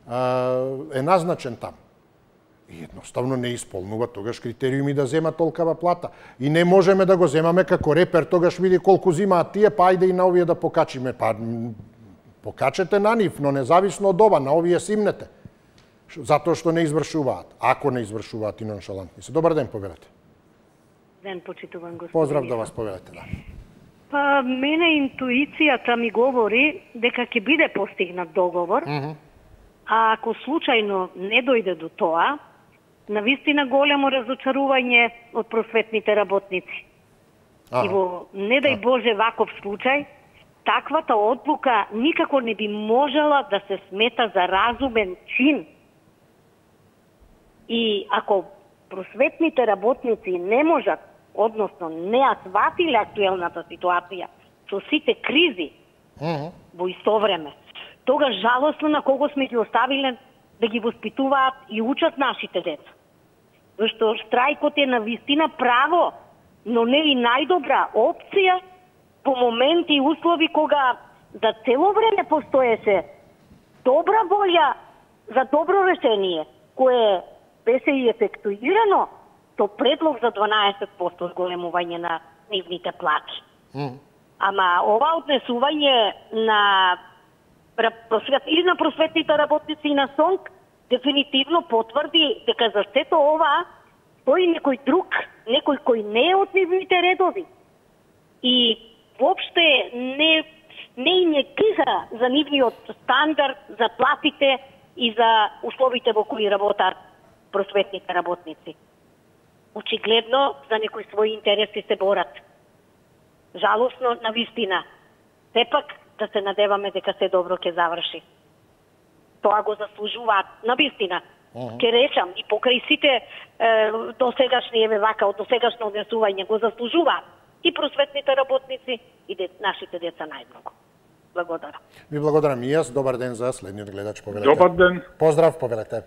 е, е назначен таму. И едноставно не исполнува тогаш критериуми да зема толкава плата. И не можеме да го земаме како репер, тогаш види колку зимаат тие, па ајде и на овие да покачиме. Па покачете на нив, но независно од ова, на овие симнете. Затоа што не извршуваат. Ако не извршуваат и ноншалантни се. Добар ден, повелете.
Ден, почитуван господин.
Поздрав да вас, повелете, да.
Па, мене интуицијата ми говори дека ќе биде постигнат договор, mm -hmm. а ако случајно не дојде до тоа, навистина големо разочарување од просветните работници. А, и во, не дај Боже, ваков случај, таквата одлука никако не би можела да се смета за разумен чин. И ако просветните работници не можат, односно не ја сватиле актуелната ситуација со сите кризи uh-huh. во исто време, тогаш жалосно на кого сме ги оставиле да ги воспитуваат и учат нашите деца. Зашто штрајкот е навистина право, но не и најдобра опција по моменти и услови кога за цело време постоеше добра волја за добро решение, кое беше и ефектуирано со предлог за дванаесет проценти зголемување на нивните плати. Mm. Ама ова однесување на просвет, или на просветните работници и на СОНК дефинитивно потврди дека за сето ова стои некој друг, некој кој не е од нивните редови. И воопште не, не им е кига за нивниот стандард, за платите и за условите во кои работат просветните работници. Очигледно за некои своји интереси се борат. Жалосно, навистина. Сепак да се надеваме дека се добро ќе заврши. Тоа го заслужуваат, навистина. Uh-huh. Ке речам, и покрај сите е, досегашни, еве вака, од досегашно однесување го заслужуваат и просветните работници, и де, нашите деца најмногу. Благодарам.
Ви благодарам и јас. Добар ден за следниот гледач, повелете.
Добар ден.
Поздрав, повелете.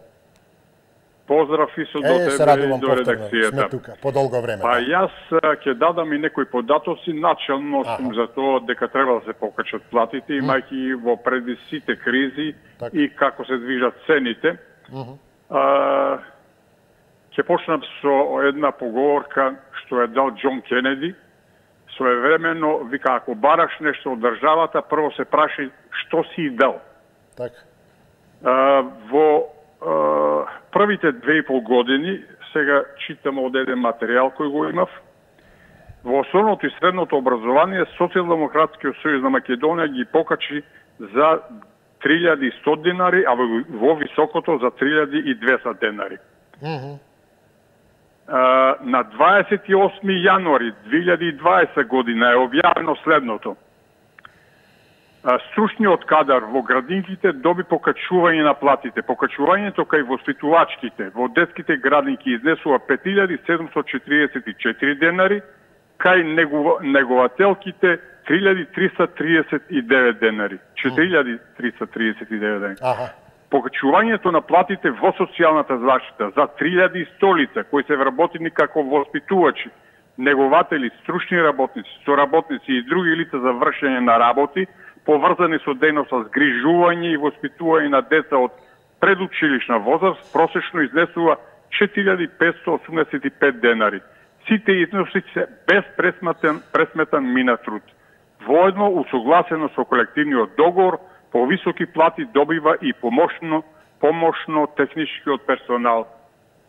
Поздрав и со до
е,
тебе и до редакцијата.
Сме тука, по долго време.
Па јас ќе дадам и некои податоци, начелно сум за тоа дека треба да се покачат платите, имајќи во преди сите кризи так. И како се движат цените. Uh-huh. А, ќе почнам со една поговорка што е дал Џон Кенеди. Своевремено вика, ако бараш нешто од државата, прво се прашај што си дал.
Така.
А, во а, првите две и пол години, сега читам од еден материјал кој го имав, во основното и средното образование Социјалдемократскиот сојуз на Македонија ги покачи за три илјади и сто денари, а во, во високото за три илјади и двесте денари.
Mm -hmm.
а, на дваесет и осми јануари две илјади и дваесета година е објавено следното. А, стручниот кадар во градинките доби покачување на платите. Покачувањето кај воспитувачките во детските градинки изнесува пет илјади седумстотини четиридесет и четири денари, кај негова, негователките три илјади триста триесет и девет денари. четири илјади триста триесет и девет денари.
Аха.
Покачувањето на платите во социјалната заштита за три илјади и сто лица кои се вработени како воспитувачи, негователи, стручни работници, соработници и други лица за вршење на работи, поврзани со дејност за згрижување и воспитување на деца од предучилишна возраст, просечно изнесува четири илјади петстотини осумдесет и пет денари. Сите износи се без пресметан, пресметан мина труд. Воедно, усогласено со колективниот договор, повисоки плати добива и помошно, помошно техничкиот персонал.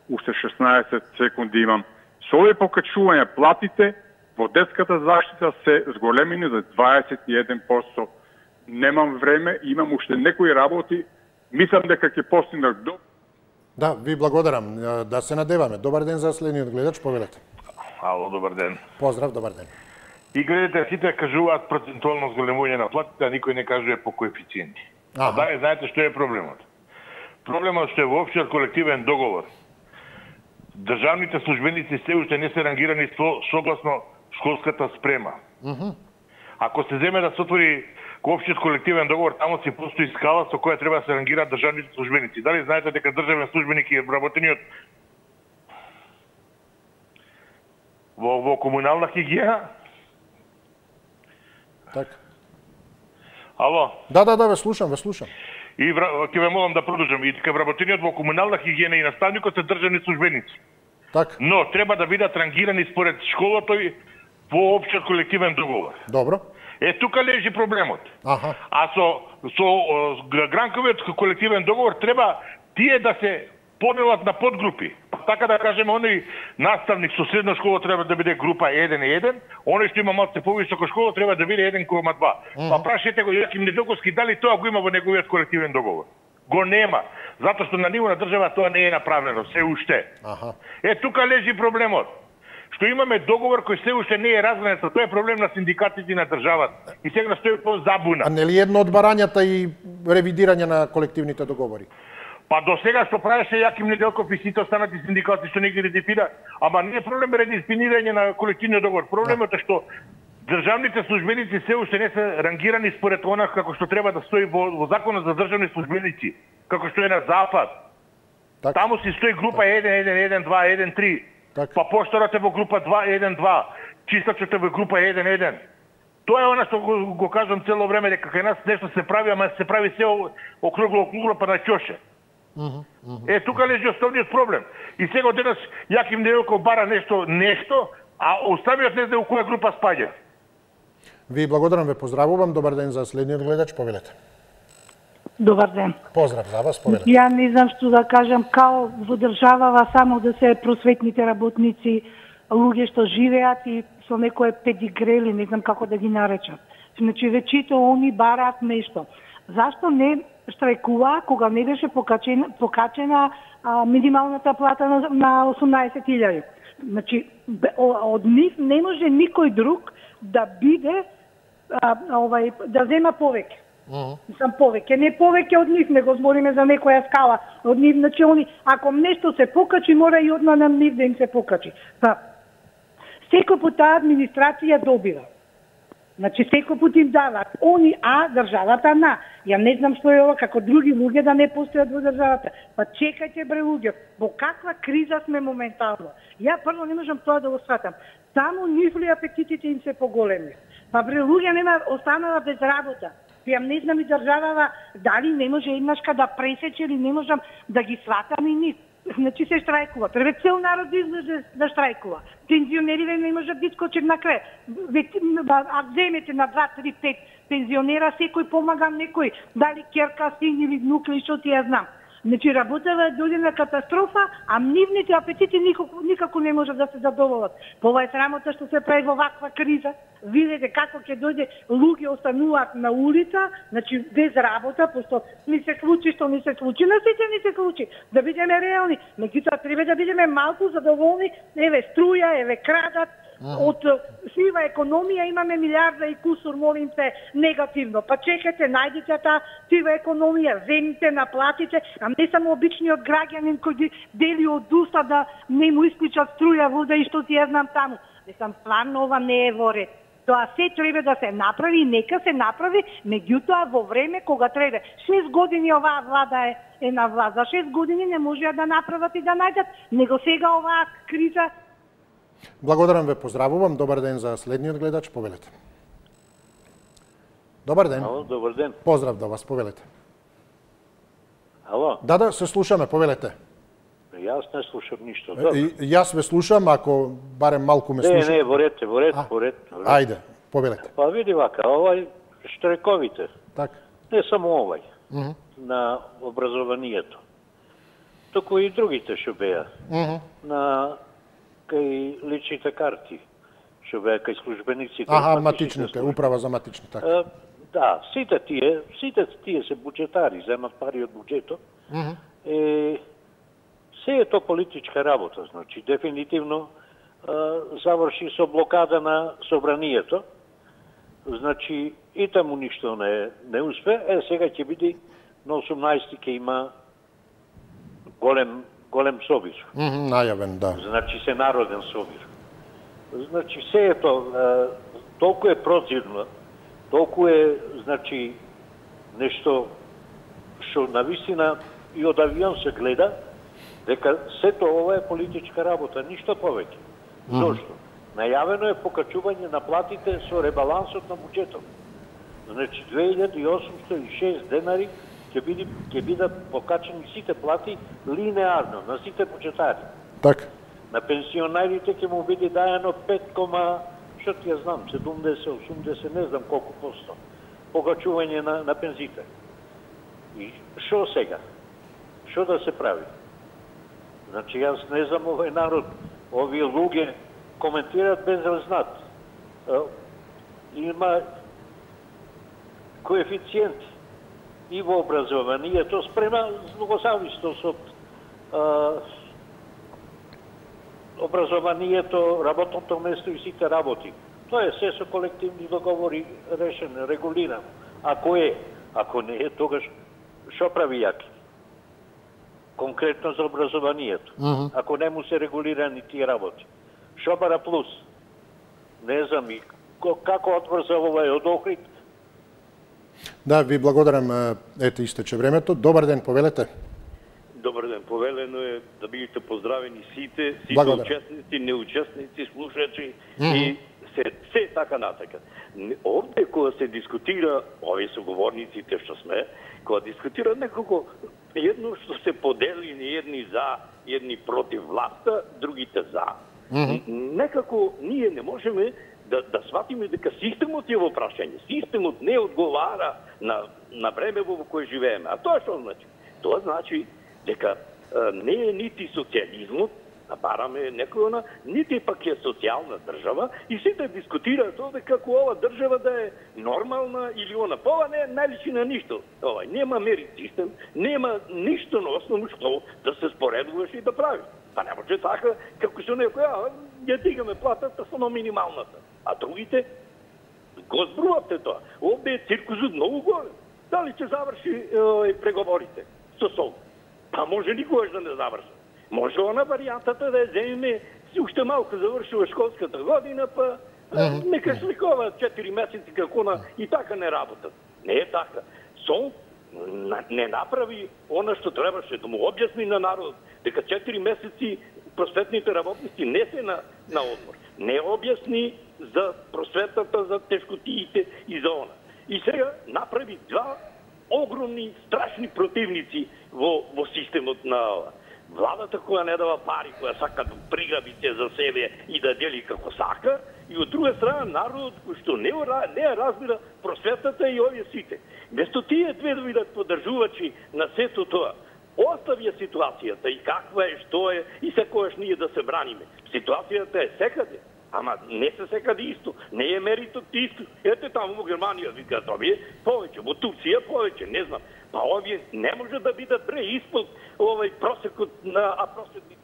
Уште шеснаесет секунди имам. Со овие покачување платите во детската заштита се зголемени за дваесет и еден проценти. Немам време, имам уште некои работи, мислам дека ќе постигнат до...
Да, ви благодарам. Да се надеваме. Добар ден за следниот гледач, повелете.
Ало, добар ден.
Поздрав, добар ден.
И гледате, сите кажуваат процентуално зголемување на платите, а никој не кажува по коефициенти. А да, знаете што е проблемот? Проблемот што е во општиот колективен договор. Државните службеници се уште не се рангирани со, согласно школската спрема.
Mm -hmm.
Ако се земе да се отвори општиот колективен договор, таму си постои скала со која треба да се рангираат државните службеници. Дали знаете дека државен службеник е вработениот во, во комунална хигиена?
Така.
Ало?
Да, да, да, ве слушам, ве слушам.
И ќе ве молам да продолжам. И дека вработениот во комунална хигиена и наставникот се државни службеници.
Така.
Но треба да бидат рангирани според школото и во општиот колективен договор.
Добро.
Е, тука лежи проблемот.
Аха.
А со, со гранковиот колективен договор треба тие да се поделат на подгрупи. Така да кажеме, оној наставник со средна школа треба да биде група еден и еден, оној што има малку повисока школа треба да биде еден кома два. Mm -hmm. Па прашете го Јаким Недолковски дали тоа го има во неговиот колективен договор. Го нема, затоа што на ниво на држава тоа не е направено, се уште.
Аха.
Е, тука лежи проблемот. Што имаме договор кој се уште не е разгранет, тоа е проблем на синдикатите на државата. И сега стои по забуна.
А нели едно од барањата и ревидирање на колективните договори?
Па до сега што правеше Јаким Неделков и сите останати синдикати што не ги редефира, ама не е проблем редефинирање на колективниот договор. Проблемот е што државните службеници се уште не се рангирани според она како што треба да стои во, во законот за државни службеници, како што е на запад. Так. Таму си стои група еден еден еден два еден три. Так. Па поштарот е во група два еден два, чистачот е во група еден еден. Тоа е она што го, го кажам цело време, дека кај нас нешто се прави, ама се прави се округло округло па на ќоше.
Uh-huh, uh-huh.
Е, тука лежи основниот проблем. И сега денес Јаким Неделков бара нешто, нешто, а оставиот не знае у која група спаѓа.
Ви благодарам, ве поздравувам. Добар ден за следниот гледач, повелете.
Добар ден.
Поздрав за вас, повелете.
Ја не знам што да кажам, као во државава само да се просветните работници, луѓе што живеат и со некое педигрели, не знам како да ги наречам. Значи, вечето они бараат нешто. Зашто не штрајкува кога не беше покачена, покачена а, минималната плата на, на осумнаесет илјади? Значи, од нив не може никој друг да биде, а, овај, да зема повеќе.
Uh-huh.
Сам повеќе, не повеќе од нив, него збориме за некоја скала од нив, значи они, ако нешто се покачи, мора и одма на нив да им се покачи. Па, секој пат таа администрација добива. Значи, секој пат им дават. Они, а државата на. Ја не знам што е ова, како други луѓе да не постојат во државата. Па чекајте, бре луѓе, во каква криза сме моментално. Ја прво не можам тоа да го сватам. Само нивли апетитите им се поголеми. Па бре луѓе нема, останала без работа. Ја не знам и државава дали не може еднашка да пресече или не можам да ги сватам и ни. Значи се штрајкува. Треба цел народ да излезе да штрајкува. Пензионерите не можат да искочат на крај. А земете на два, три, пет пензионера, секој помага некој, дали керка, син или внук или што ти ја знам. Значи работава дојде на катастрофа, а нивните апетити никако, никако не можат да се задоволат. Ова е срамота што се прави во ваква криза. Видете како ќе дојде луѓе остануваат на улица, значи без работа, пошто ми се случи што ми се случи, на сите ни се случи. Да бидеме реални, меѓутоа треба да бидеме малку задоволни, еве струја, еве крадат. Од сива економија имаме милиарда и кусур, молим се, негативно. Па чекате, најдете таа сива економија, земите, наплатите, а не само обичниот граѓанин кој дели од уста да не му исклучат струја, вода и што ти ја знам таму. Мислам, стварно ова не е во ред. Тоа се треба да се направи, нека се направи, меѓутоа во време кога треба. Шест години оваа влада е, е на власт, за шест години не можеа да направат и да најдат, него сега оваа криза.
Благодарам ве, поздравувам. Добар ден за следниот гледач, повелете. Добар ден.
Ало, добар ден.
Поздрав до вас, повелете.
Ало?
Да, да, се слушаме, повелете.
Јас не слушам ништо.
И, јас ве слушам, ако барем малку ме слушате.
Не, не, во ред, во ред, во ред.
Ајде, повелете.
Па види вака, овај штрековите.
Так.
Не само овај,
Mm -hmm.
на образованието. Туку и другите што беа.
Mm -hmm.
На кај личните карти, што беа кај службениците.
Аха, матичните, управа за матични, така.
Uh, да, сите тие, сите тие се буџетари, земат пари од буџетот.
Mm -hmm.
Е, се е то политичка работа, значи, дефинитивно uh, заврши со блокада на собранието. Значи, и таму ништо не, не успе. Е, сега ќе биде на осумнаесети ќе има голем голем собир.
Mm -hmm, најавен, да.
Значи се народен собир. Значи се е то, толку е прозирно, толку е, значи, нешто што навистина и од авион се гледа, дека сето ова е политичка работа, ништо повеќе.
Mm -hmm.
Зошто? Најавено е покачување на платите со ребалансот на буџетот. Значи две илјади и осумстотини и шест денари ќе биде ќе бидат покачени сите плати линеарно на сите буџетари.
Така.
На пенсионерите ќе му биде дајано пет, што ти ја знам, седумдесет, осумдесет, не знам колку посто покачување на на пензите. И што сега? Што да се прави? Значи јас не знам, овој народ, овие луѓе коментираат без разнат. Има коефициенти и во образованието спрема злогосавистост од образованието, работното место и сите работи. Тоа е се со колективни договори решено, регулирано. Ако е, ако не е, тогаш што прави јаки? Конкретно за образованието.
Mm -hmm.
Ако не му се регулирани тие работи. Што бара плюс? Не знам и како одврза овај од Охрид.
Да, ви благодарам, ете истече времето. Добар ден, повелете.
Добар ден, повелено е да бидете поздравени сите, сите
Благодарам.
учесници, неучесници, слушачи
Mm -hmm.
и се, се така натака. Овде кога се дискутира, овие соговорниците што сме, кога дискутира некако едно што се подели ни едни за, едни против власта, другите за.
Mm -hmm.
Некако ние не можеме да, да сватиме дека системот е во прашање. Системот не одговара на, на време во кое живееме. А тоа што значи? Тоа значи дека а, не е нити социализмот, а бараме некој она, нити пак е социјална држава и сите дискутираат овде како ова држава да е нормална или она. Па ова не е најличи на ништо. Ова нема мерит систем, нема ништо на основно што да се споредуваш и да правиш. Па не може така, како што некој, а, ја дигаме платата само минималната. А другите, го збрувате тоа. Овде е циркузот многу голем. Дали ќе заврши е, преговорите со Сол? Па може никогаш да не заврши. Може она варијантата да ја земеме, уште малку завршува школската година, па mm -hmm. нека сликова четири месеци како на и така не работат. Не е така. Сол не направи она што требаше да му објасни на народот, дека четири месеци просветните работници не се на, на одмор. Не објасни за просветата, за тешкотиите и за она. И сега направи два огромни, страшни противници во, во системот на владата која не дава пари, која сака да приграби се за себе и да дели како сака, и од друга страна народот кој што не, не разбира просветата и овие сите. Место тие две да бидат поддржувачи на сето тоа, оставија ситуацијата и каква е, што е, и секојаш ние да се браниме. Ситуацијата е секаде, ама не се секаде исто, не е меритот исто. Ете таму во Германија викаат овие повеќе, во Турција повеќе, не знам. Па овие не може да бидат бре испод овој просекот на а просекот.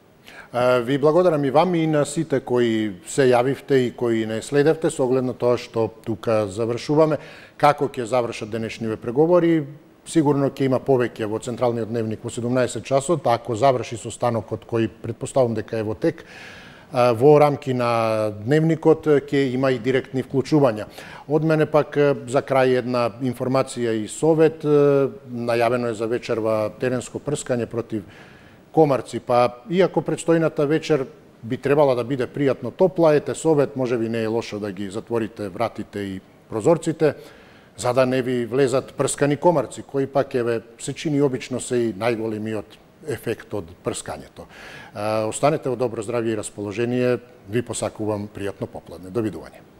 Ви благодарам и вам и на сите кои се јавивте и кои не следевте со оглед на тоа што тука завршуваме. Како ќе завршат денешниве преговори? Сигурно ќе има повеќе во Централниот дневник во седумнаесет часот, ако заврши состанокот кој предпоставам дека е во тек. Во рамки на дневникот ќе има и директни вклучувања. Од мене пак за крај една информација и совет. Најавено е за вечерва теренско прскање против комарци, па иако предстојната вечер би требала да биде пријатно топла, ете совет, можеби не е лошо да ги затворите вратите и прозорците, за да не ви влезат прскани комарци, кои пак еве се чини обично се и најголемиот ефект од прскањето. Останете во добро здравје и расположение, ви посакувам пријатно попладне. Довидување.